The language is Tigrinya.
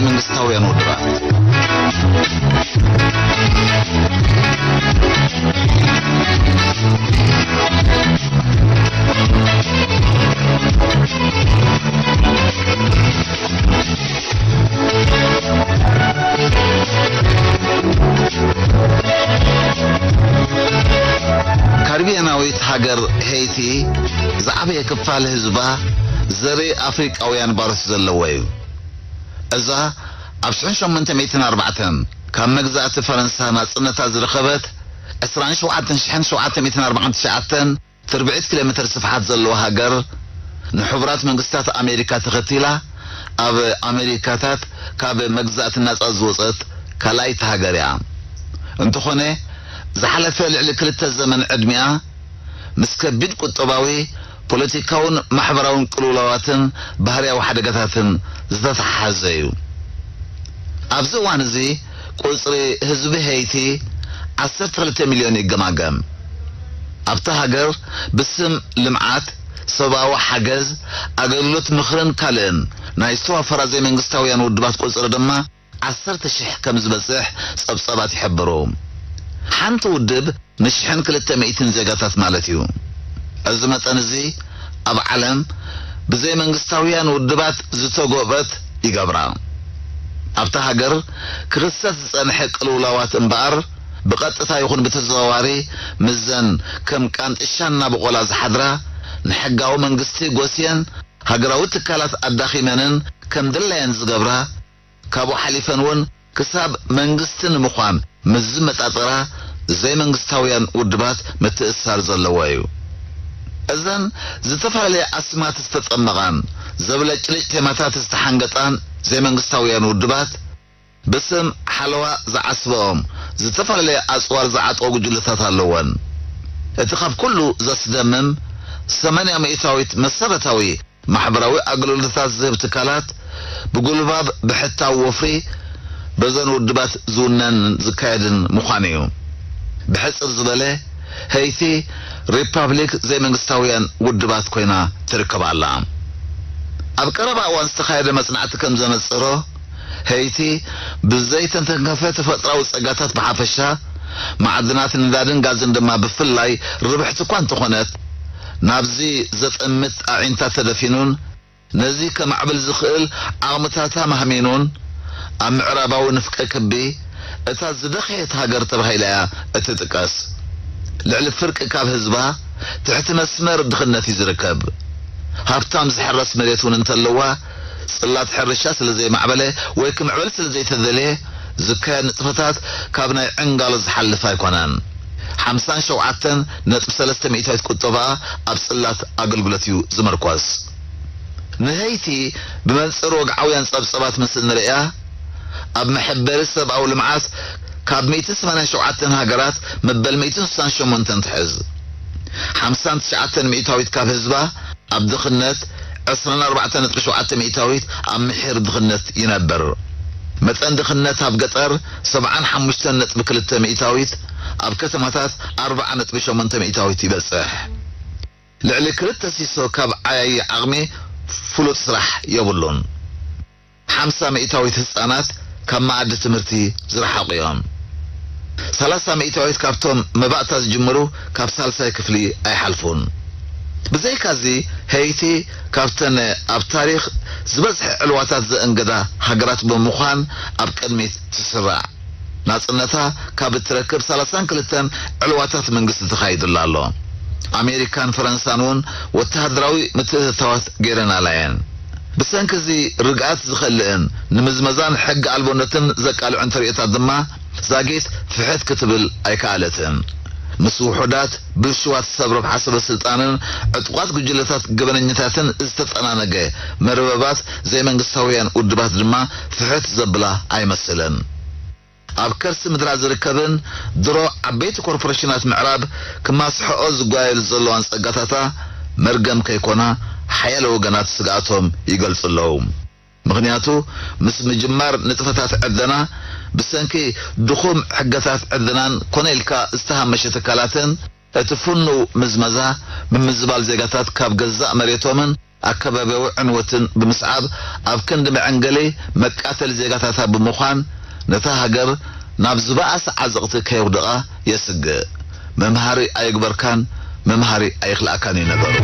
መንግስታውያን ውድባት። ካሪቢያናዊት ሃገር ሄይቲ ዝዓበየ ክፋል ህዝባ ዘርኢ ኣፍሪቃውያን ባሮት ዘለዎ እዩ። እዛ ኣብ ሽሕን ሸሞንተ ሚእትን ኣርባዕተን ካብ መግዛእቲ ፈረንሳ ናጽነታ ዝረኸበት ዕስራን ሸውዓተን ሽሕን ሸውዓተ ሚእትን ኣርባዓን ትሽዓተን ትርብዒት ኪሎ ሜትር ስፍሓት ዘለዋ ሃገር፣ ንሕቡራት መንግስታት ኣሜሪካ ተኸቲላ ኣብ ኣሜሪካታት ካብ መግዛእቲ ናጻ ዝወጸት ካልኣይቲ ሃገር እያ። እንተኾነ፣ ዝሓለፈ ልዕሊ ክልተ ዘመን ዕድሚኣ ምስ ከቢድ ቁጠባዊ፣ ፖለቲካውን ማሕበራውን ቅልውላዋትን ባህርያዊ ሓደጋታትን ዝተተሓሓዘ እዩ። ኣብዚ እዋን እዚ ቁጽሪ ህዝቢ ሄይቲ ዓሰርተ ክልተ ሚልዮን ይገማገም። ኣብታ ሃገር ብስም ልምዓት፣ ሰብኣዊ ሓገዝ፣ ኣገልግሎት ምኽርን ካልእን ናይ ዝተዋፈራ ዘይመንግስታውያን ውድባት ቁጽሪ ድማ ዓሰርተ ሽሕ ከም ዝበጽሕ ጸብጻባት ይሕብሩ። ሓንቲ ውድብ ንሽሕን ክልተ ሚእትን ዜጋታት ማለት እዩ። እዚ መጠን እዚ ኣብ ዓለም ብዘይመንግስታውያን ውድባት ዝተጎበት ይገብራ። ኣብታ ሃገር ክኽሰት ዝጸንሐ ቅልውላዋት እምበኣር፣ ብቐጥታ ይኹን ብተዘዋዋሪ፣ ምስዘን ከም ቃንጥሻ እናበቖላ ዝሓድራ ንሕጋዊ መንግስቲ ጎስየን፣ ሃገራዊ ትካላት ኣዳኺመንን ከም ድላየን ዝገብራ፣ ካብኡ ሓሊፈን እውን ክሳብ መንግስቲ ንምዃን ምስ ዝመጣጠራ ዘይመንግስታውያን ውድባት ምትእስሳር ዘለዎ እዩ። እዘን ዝተፈላለየ ኣስማት ዝተጠመቓን ዘብለጭልጭ ቴማታት ዝተሓንገጣን ዘይመንግስታውያን ውድባት፣ ብስም ሓለዋ ዝዓስበኦም ዝተፈላለየ ኣጽዋር ዝዓጠቑ ጉጅለታት ኣለወን። እቲ ካብ ኩሉ ዘስደምም፣ ሰማንያ ሚእታዊት መሰረታዊ ማሕበራዊ ኣገልግሎታት ዝህብ ትካላት ብጉልባብ ብሕታዊ ወፍሪ በዘን ውድባት ዝውነን ዝካየድን ምዃኑ እዩ። ብሕጽር ዝበለ፣ ሄይቲ ሪፓብሊክ ዘይመንግስታውያን ውድባት ኮይና ትርከብ ኣላ። ኣብ ቀረባ እዋን ዝተኻየደ መጽናዕቲ ከም ዘነጸሮ፣ ሄይቲ ብዘይተተንከፈ ተፈጥራዊ ጸጋታት ብሓፈሻ፣ ማዕድናት ነዳድን ጋዝን ድማ ብፍላይ ርብሕቲ እኳ እንተኾነት፣ ናብዚ ዘጠምት ኣዒንታ ተደፊኑን ነዚ ከማዕብል ዝኽእል ዓቕምታታ ማህሚኑን፣ ኣብ ምዕራባዊ ንፍቀ ክቢ እታ ዝደኸየት ሃገር ተባሂላ እያ እትጥቀስ። ልዕሊ ፍርቂ ካብ ህዝባ ትሕቲ መስመር ድኽነት እዩ ዝርከብ። ሃብታም ዝሕረስ መሬት እውን እንተለዋ፣ ጽላት ሕርሻ ስለ ዘይማዕበለ ወይ ክምዕብል ስለ ዘይተደልየ፣ ዝካየድ ንጥፈታት ካብ ናይ ዕንጋሎ ዝሓልፍ ኣይኮነን። ሓምሳን ሸውዓተን ነጥቢ ሰለስተ ሚእታዊት ቁጠባኣ ኣብ ጽላት ኣገልግሎት እዩ ዝምርኮስ። ንሀይቲ ብመንጽር ወግዓውያን ጸብጸባት ምስ እንርእያ፣ ኣብ መሐበሪ ሰብኣዊ ልምዓት ካብ ሚእቲ ሰማንያን ሸውዓተን ሃገራት መበል ሚእትን ስሳን ሸሞንተን ትሕዝ። ሓምሳን ትሽዓተን ሚእታዊት ካብ ህዝባ ኣብ ድኽነት፣ ዕስራን ኣርባዕተን ነጥቢ ሸውዓተ ሚእታዊት ኣብ ምሒር ድኽነት ይነብር። መጠን ድኽነት ኣብ ገጠር ሰብዓን ሓሙሽተን ነጥቢ ክልተ ሚእታዊት፣ ኣብ ከተማታት ኣርብዓ ነጥቢ ሸሞንተ ሚእታዊት ይበጽሕ። ልዕሊ ክልተ ሲሶ ካብ ዓያዪ ዓቕሚ ፍሉጥ ስራሕ የብሉን። ሓምሳ ሚእታዊት ህጻናት ካብ መኣዲ ትምህርቲ ዝረሓቑ እዮም። ሰላሳ ሚእታዊት ካብቶም መባእታ ዝጅምሩ ካብ ሳልሳይ ክፍሊ ኣይሓልፉን። ብዘይካዚ፣ ሄይቲ ካብተን ኣብ ታሪኽ ዝበዝሐ ዕልዋታት ዘእንገዳ ሃገራት ብምዃን ኣብ ቅድሚት ትስራዕ። ናጽነታ ካብ እትረክብ ሰላሳን ክልተን ዕልዋታት መንግስቲ ተኻይዱላ ኣሎ። ኣሜሪካን ፈረንሳን እውን ወተሃደራዊ ምትእትታዋት ገይረናላ እየን። ብሰንኪ እዚ ርግኣት ዝኸልእን ንምዝመዛን ሕጊ ኣልቦነትን ዘቃልዑን ተርእዮታት ድማ ዛጊት ፍሕት ክትብል ኣይከኣለትን። ምስ ውሑዳት ብልሹዋት ሰብ ረብሓ ሰበ ስልጣንን ዕጡቓት ጉጅለታት ገበነኛታትን ዝተጠናነገ መርበባት ዘይመንግስታውያን ውድባት ድማ ፍሕት ዘብላ ኣይመስልን። ኣብ ከርሲ ምድራ ዝርከብን ድሮ ዓበይቲ ኮርፖሬሽናት ምዕራብ ክማስሐኦ ዝጓየሉ ዘለዋን ጸጋታታ መርገም ከይኮና ሓያለ ወገናት ስግኣቶም ይገልጹ ኣለዉ። ምኽንያቱ ምስ ምጅማር ንጥፈታት ዕደና ብሰንኪ ድኹም ሕገታት ዕደናን ኮነ ኢልካ ዝተሃመሸ ትካላትን እቲ ፍኑው ምዝመዛ ምምዝባል ዜጋታት ካብ ገዛእ መሬቶምን ኣከባብያዊ ዕንወትን ብምስዓብ ኣብ ክንዲ መዐንገሊ መቃተሊ ዜጋታታ ብምዃን ነታ ሃገር ናብ ዝበኣሰ ዓዘቕቲ ከየውድቓ የስግእ። መምሃሪ ኣይግበርካን መምሃሪ ኣይኽልኣካን እዩ ነገሩ።